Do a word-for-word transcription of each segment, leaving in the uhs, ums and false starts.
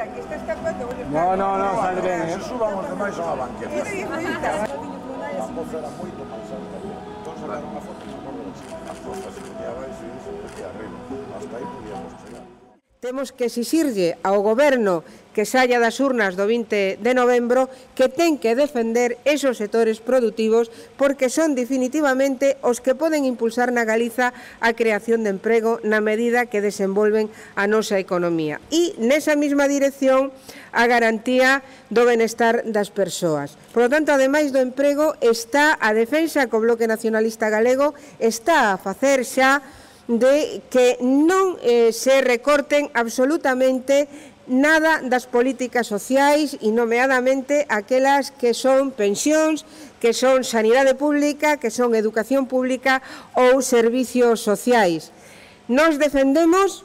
mira, aquí está escapando. No, no, no, sale ben, eh? Se subamos demais a banqueta. A poza era moito máis alta. Entón sacaron unha foto e non as costas se podía abaixo e iso podía arriba. Hasta aí podíamos chegar. Temos que exixirlle ao goberno que saia das urnas do vinte de novembro que ten que defender esos sectores produtivos porque son definitivamente os que poden impulsar na Galiza a creación de emprego na medida que desenvolven a nosa economía. E nesa mesma dirección a garantía do benestar das persoas. Por lo tanto, ademais do emprego, está a defensa que o Bloque Nacionalista Galego está a facer xa de que non eh, se recorten absolutamente nada das políticas sociais e nomeadamente aquelas que son pensións, que son sanidade pública, que son educación pública ou servicios sociais. Nos defendemos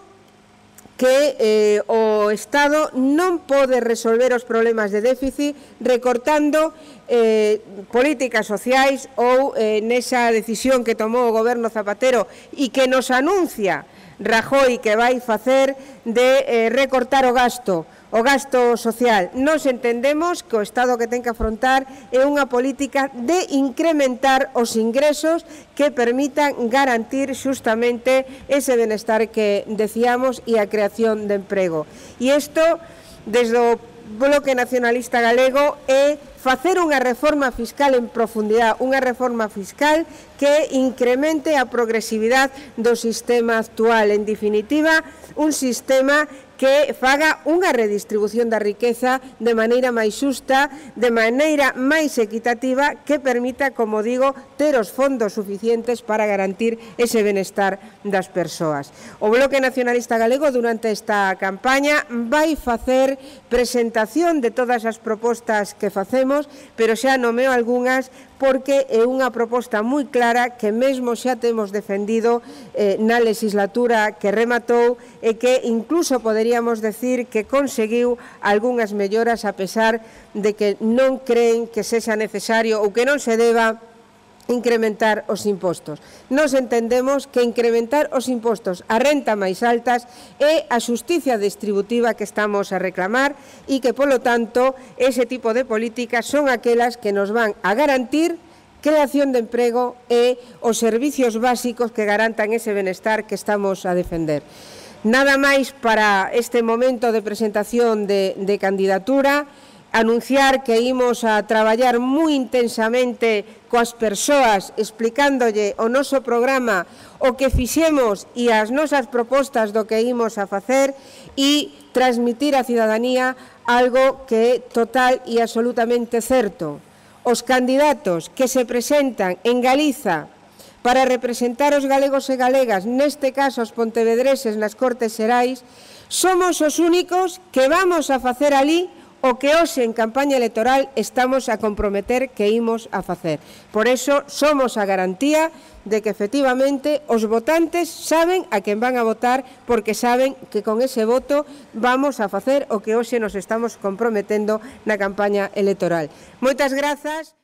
que eh, o Estado non pode resolver os problemas de déficit recortando eh, políticas sociais ou eh, nesa decisión que tomou o goberno Zapatero e que nos anuncia Rajoy que vai facer de eh, recortar o gasto, o gasto social. Nos entendemos que o Estado que ten que afrontar é unha política de incrementar os ingresos que permitan garantir xustamente ese benestar que decíamos e a creación de emprego. E isto, desde o Bloque Nacionalista Galego, é facer unha reforma fiscal en profundidade, unha reforma fiscal que incremente a progresividade do sistema actual. En definitiva, un sistema que faga unha redistribución da riqueza de maneira máis xusta, de maneira máis equitativa, que permita, como digo, ter os fondos suficientes para garantir ese benestar das persoas. O Bloque Nacionalista Galego, durante esta campaña, vai facer presentación de todas as propostas que facemos, pero xa nomeo algunhas porque é unha proposta moi clara que mesmo xa temos defendido eh, na legislatura que rematou e que incluso poderíamos decir que conseguiu algunhas melloras a pesar de que non creen que sexa necesario ou que non se deba incrementar os impostos. Nos entendemos que incrementar os impostos a renta máis altas é a xusticia distributiva que estamos a reclamar e que, polo tanto, ese tipo de políticas son aquelas que nos van a garantir creación de emprego e os servicios básicos que garantan ese benestar que estamos a defender. Nada máis para este momento de presentación de, de candidatura. Anunciar que imos a traballar moi intensamente coas persoas explicándolle o noso programa, o que fixemos e as nosas propostas do que imos a facer e transmitir á cidadanía algo que é total e absolutamente certo. Os candidatos que se presentan en Galiza para representar os galegos e galegas, neste caso os pontevedreses nas Cortes Xerais, somos os únicos que vamos a facer ali o que hoxe en campaña electoral estamos a comprometer que imos a facer. Por eso somos a garantía de que efectivamente os votantes saben a quen van a votar porque saben que con ese voto vamos a facer o que hoxe nos estamos comprometendo na campaña electoral. Moitas grazas.